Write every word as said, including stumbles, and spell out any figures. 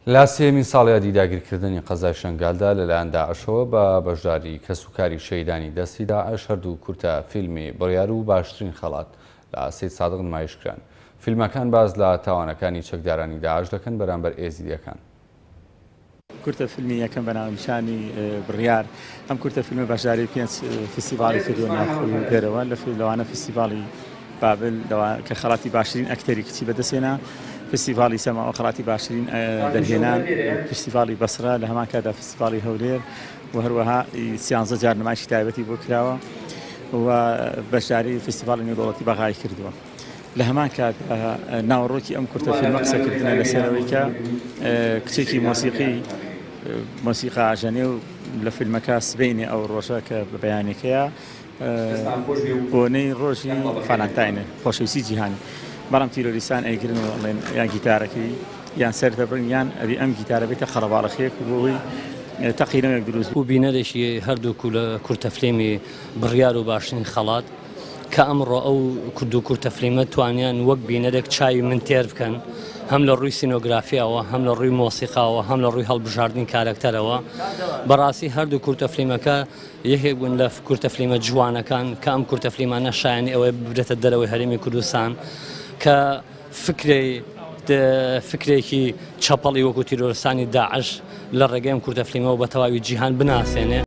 لە سێیەمین ساڵیادی داگیرکردنی قەزای شەنگالدا لەلایەن داعشەوە بە بەشداری کەسوکاری شەهیدانی دەستی داعش هەردوو کورتە فیلمی بڕیار و باشترین خەڵات لە سەیدسادق نمایش کران. فیلمەکان باس لە تاوانەکانی چەکدارانی داعش دەکەن بەرامبەر ئێزیدیەکان. کورتە فیلمی یەکەم بە ناونیشانی بڕیار، ئەم کورتە فیلمە بەشداری پێنج فستیڤاڵی کردووە ناوخۆی و دەرەوە، لەوانە فستیڤاڵی بابل کە خەڵاتی باشترین ئەکتەری کچی بەدەستهێنا، فستیڤاڵی سەماوە خەڵاتی باشترین دەرهێنان، فستیڤاڵی بەسرە لە هەمان کاتدا فستیڤاڵی هەولێر و هەروەها سیانزە جار نمایشی تایبەتی بۆ کراوە و بەشداری فستیڤاڵی نێودەوڵەتی بەغای کردووە. لە هەمان کات ناوەڕۆکی ئەم کورتە فیلمە قسەکردنە لەسەرەوەی کە کچێکی مۆسیقی مۆسیقا ئاژەنێ و لە فیلمەکە سبەینێ ئەو ڕۆژە کە بە بەیانەکەیە بۆنەی ڕۆژی فالانتاینە، خۆشەویستی جیهانی، بەڵام تیرۆریستان ئەیگرن و ئەڵێن یان گیتارەکەی یان سەر دەبڕن یان ئەبی ئەم گیتارە بێتە قەرەباڵخیەک و بۆ هۆی تەقینەوەیەک دروست و بینەرێکی هەردوو کورتە فیلمی بڕیار و باشترین خەڵات کە ئەمڕۆ ئەو کورد و کورتە فیلمە توانیان وەک بینەرێک چاوی من تێر بکەن، هەم لە ڕووی سینۆگرافیاوە، هەم لە ڕووی مۆسیقاوە، هەم لە ڕووی هەڵبژاردنی کارەکتەرەوە. بەڕاستی هەردوو کورتە فیلمەکە یەکێک بوون لە کورتە فیلمە جوانەکان کە ئەم کورتە فیلمانە شایانی ئەوەی ببرێتە دەرەوەی هەرێمی کوردستان کە فکرەی فکرێکی چەپەڵی وەکو تیرۆرستانی داعش لە ڕێگەی ئەم کورتە فیلمەوە بە تەواوی جیهان بناسێنێ.